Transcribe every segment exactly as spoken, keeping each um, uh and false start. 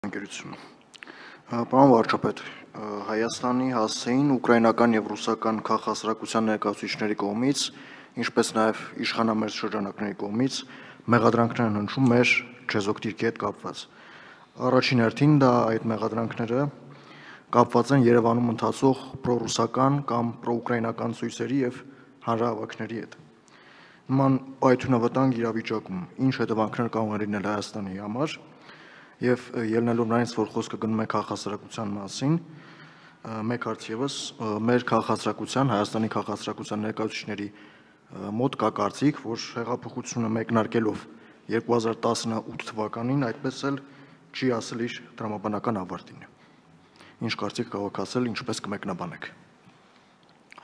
Ընկերություն։ Պարոն վարչապետ, Հայաստանի հասցեին ուկրաինական եւ ռուսական քաղաքասրակության ներկայացուցիչների կողմից, ինչպես նաեւ իշխանամերձ շրջանակների կողմից մեղադրանքներ են հնչում մեր չեզոքտիրքի հետ կապված։ Առաջին հերթին դա այդ մեղադրանքները կապված են Երևանում ընթացող պրոռուսական կամ պրոուկրաինական ցույցերի եւ հանրահավաքների հետ։ Նման պայթյունավտանգ իրավիճակում ինչ հետևանքներ կարող են լինել Հայաստանի համար եւ ելնելով նրանից, որ խոսքը գնում է քաղաքասրակության մասին, մեկ հարց եւս մեր քաղաքասրակության, Հայաստանի քաղաքասրակության ներկայացուցիչների մոտ կա կարծիք, որ հեղափոխությունը մեկնարկելով երկու հազար տասնութ թվականին այդպես էլ չի ասել իր տրամաբանական ավարտին։ Ինչ կարծիք կարող ասել, ինչպես կմեկնաբանեք։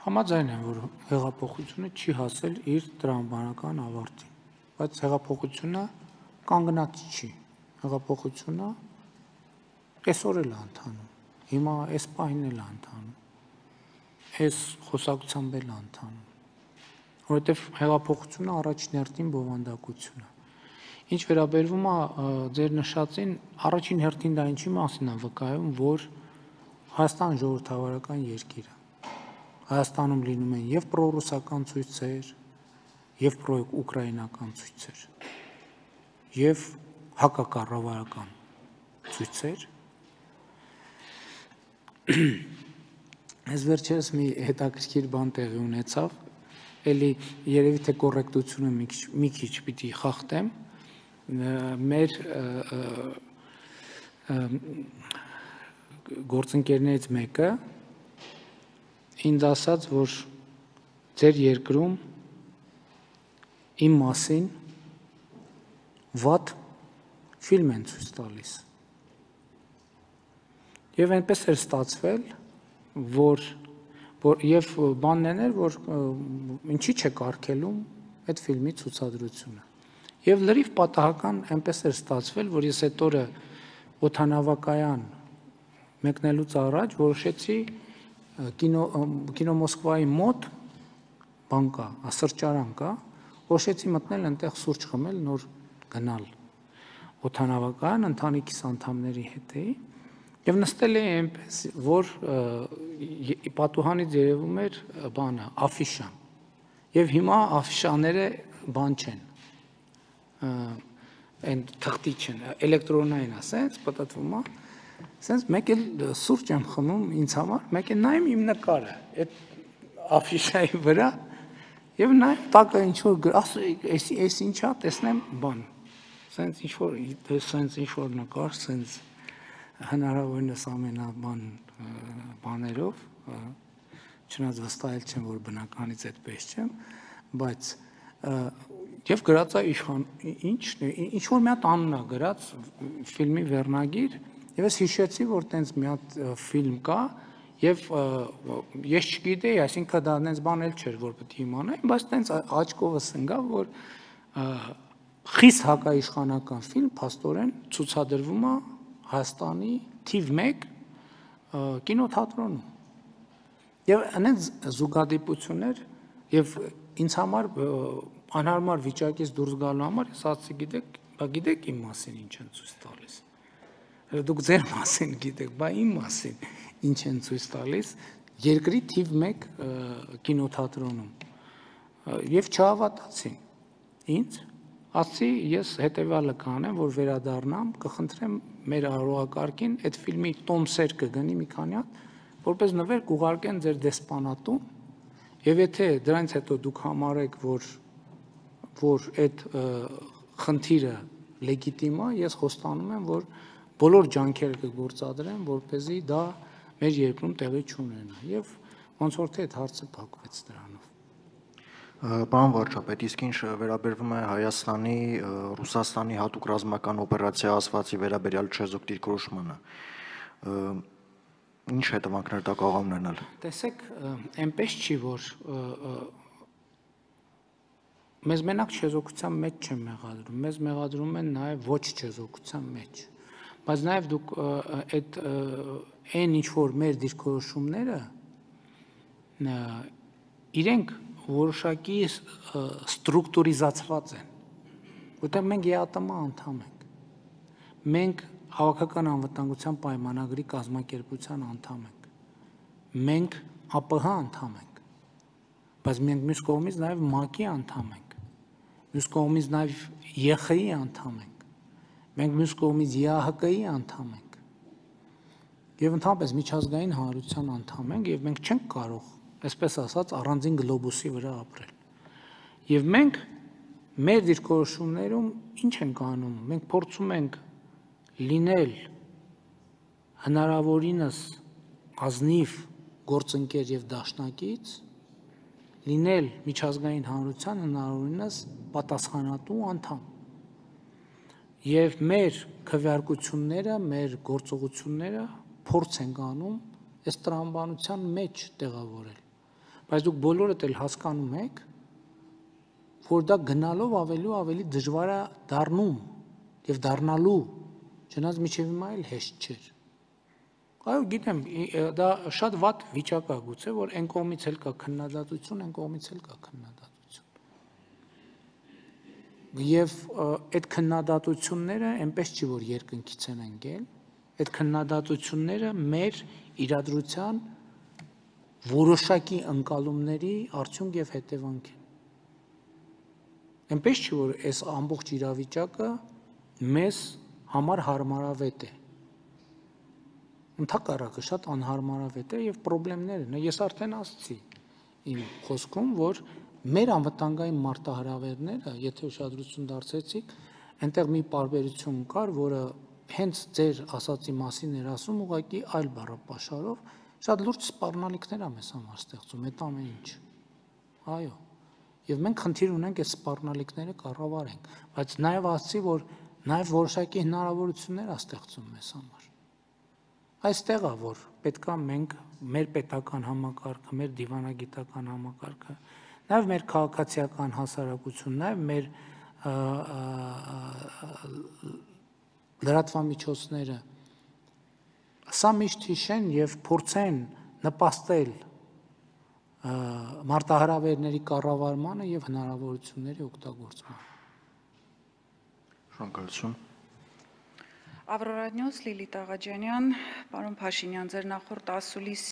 Համաձայն եմ, որ հեղափոխությունը չի հասել իր տրամաբանական ավարտին, բայց հեղափոխությունը կանգնած չի։ Հեղափոխությունը այսօր էլ ընթանում, հիմա այս պահին էլ ընթանում, այս խոսակցությամբ էլ ընթանում, որովհետև հեղափոխությունը առաջին հերթին բովանդակություն է։ Ինչ վերաբերվում է ձեր նշածին, առաջին հերթին դա ինչի մասին է վկայում, որ Հայաստան ժողովրդավարական երկիր է։ Հայաստանում լինում են եւ պրոռուսական ցույցեր, եւ պրոուկրաինական ցույցեր, եւ հակակառավարական ցույցեր։ Այս վերջերս մի հետաքրքիր բան տեղի ունեցավ, էլի երևի թե կոռեկտությունը մի քիչ պիտի խախտեմ, մեր գործընկերներից մեկը ինձ ասաց, որ ձեր երկրում իմ մասին վատ ֆիլմ են ցույց տալիս։ Եվ այնպես էր ստացվել, որ եւ բանն էր, որ ինչի՞ չեք արգելում այդ ֆիլմի ցուցադրությունը։ Եվ լրիվ պատահական այնպես էր ստացվել, որ ես այդ օրը օդանավակայան մեկնելուց առաջ որոշեցի կինո կինո Մոսկվայի մոտ բան կա, սրճարան կա, որոշեցի մտնել այնտեղ սուրճ խմել, նոր գնալ օդանավակայան ընտանիքիս անդամների հետ էի եւ նստել էի այնպես, որ պատուհանից երևում էր բանը, աֆիշան։ Եվ հիմա աֆիշաները բան չեն, այն թղթի չեն, էլեկտրոնային է, սենց պատտվում է, սենց մեկ էլ սուրճ եմ խմում ինձ համար, մեկ էլ նայում իմ նկարը, այդ աֆիշայի վրա, եւ նայում տակը ինչ-որ այս այս ինչա, տեսնեմ բան, սենց ինչ-որ սենց ինչ-որ նկար, սենց հնարավորինս ամենաբան բաներով, չնայած վստահել չեմ, որ բնականից այդպես չեմ, բայց եւ գրած է իշխան, ի՞նչն է, ինչ-որ մի հատ անուն է գրած ֆիլմի վերնագիր, եւ ես հիշեցի, որ տենց մի հատ ֆիլմ կա, եւ ես չգիտեի, այսինքն դա այնպես բան էլ չէր, որ պետք է իմանայի, բայց տենց աչքովս ընկավ, որ խիստ հակաիշխանական ֆիլմ փաստորեն ցուցադրվում է Հայաստանի թիվ մեկ կինոթատրոնում։ Եվ այնց զուգադիպություններ եւ ինձ համար անհարմար վիճակից դուրս գալու համար ես ասացի, գիտեք, բա գիտեք իմ մասին ինչ են ցույց տալիս։ Դուք ձեր մասին գիտեք, բա իմ մասին ինչ են ցույց տալիս երկրի թիվ մեկ կինոթատրոնում։ Եվ չհավատացին ինձ, ասացի ես հետեւյալը կանեմ, որ վերադառնամ, կխնդրեմ մեր արարողակարգին այդ ֆիլմի տոմսեր կգնի մի քանի հատ, որպես նվեր կուղարկեն ձեր դեսպանատուն, եւ եթե դրանից հետո դուք համարեք, որ որ այդ խնդիրը լեգիտիմ է, ես խոստանում եմ, որ բոլոր ջանքերը կգործադրեմ, որպեսզի դա մեր երկրում տեղի չունենա, եւ ոնց որ թե այդ հարցը փակվեց դրանով։ Պարոն վարչապետ, իսկ ինչ վերաբերվում է Հայաստանի Ռուսաստանի հատուկ ռազմական օպերացիա ասվածի վերաբերյալ չեզոք դիրքորոշմանը, ինչ հետևանքներ դա կարող ունենալ։ Տեսեք, այնպես չի, որ մեզ մենակ չեզոքության մեջ չեն մեղադրում, մեզ մեղադրում են նաեւ ոչ չեզոքության մեջ, բայց նաեւ դուք այդ այն ինչ որ մեր դիրքորոշումները իրենք որոշակի ստրուկտուրիզացված են, որտեղ մենք ԵԱՏՄ անդամ ենք, մենք Հավաքական անվտանգության պայմանագրի կազմակերպության անդամ ենք։ Մենք ԱՊՀ անդամ ենք։ Բայց մենք մյուս կողմից նաև ՄԱԿ-ի անդամ ենք։ Մյուս կողմից նաև ԵԽ-ի անդամ ենք։ Մենք մյուս կողմից ԵԱՀԿ-ի անդամ ենք։ Եվ ընդհանրապես միջազգային հանրության անդամ ենք, եւ մենք չենք կարող, այսպես ասած, առանձին գլոբուսի վրա ապրել։ Եվ մենք մեր դիրքորոշումներում ինչ ենք անում։ Մենք փորձում ենք լինել հնարավորինս ազնիվ գործընկեր եւ դաշնակից, լինել միջազգային հանրության հնարավորինս պատասխանատու անդամ։ Եվ մեր քվեարկությունները, մեր գործողությունները փորձ ենք անում այս տրամաբանության մեջ տեղավորել։ Բայց դուք բոլորդ էլ հասկանում եք, որ դա գնալով ավելի ու ավելի դժվար է դառնում եւ դառնալու, չնայած մինչեւ հիմա էլ հեշտ չէր։ Այո, գիտեմ, դա շատ վատ վիճակ է գուցե, որ այն կողմից էլ կա քննադատություն, այն կողմից էլ կա քննադատություն։ Եվ այդ քննադատությունները այնպես չի, որ երկնքից են ընկել, այդ քննադատությունները մեր իրադրության որոշակի ընկալումների արդյունք եւ հետևանք են։ Այնպես չի, որ այս ամբողջ իրավիճակը մեզ համար հարմարավետ է։ Ընդհակառակը շատ անհարմարավետ է եւ խնդիրներ են։ Ես արդեն ասացի իմ խոսքում, որ մեր անվտանգային մարտահրավերները, եթե ուշադրություն դարձրեցիք, այնտեղ մի պարբերություն կար, որը հենց ձեր ասացի մասին էր ասում, ուղղակի այլ բառապաշարով, շատ լուրջ սպառնալիքներ է մեզ համար ստեղծում այդ ամեն ինչ։ Այո։ Եվ մենք խնդիր ունենք այս սպառնալիքները կառավարենք, բայց նաեւ ասացի, որ նաեւ որոշակի հնարավորություններ է ստեղծում մեզ համար։ Այստեղ է, որ պետքա մենք մեր պետական համակարգը, մեր դիվանագիտական համակարգը, նաեւ մեր քաղաքացիական հասարակություն, նաեւ մեր լրատվամիջոցները սա միշտ հիշեն եւ փորձեն նպաստել մարտահրավերների կառավարմանը եւ հնարավորությունների օգտագործմանը։ Շնորհակալություն։ Ավրորա Նյուս, Լիլիթ Աղաջանյան, պարոն Փաշինյան, ձեր նախորդ ասուլիս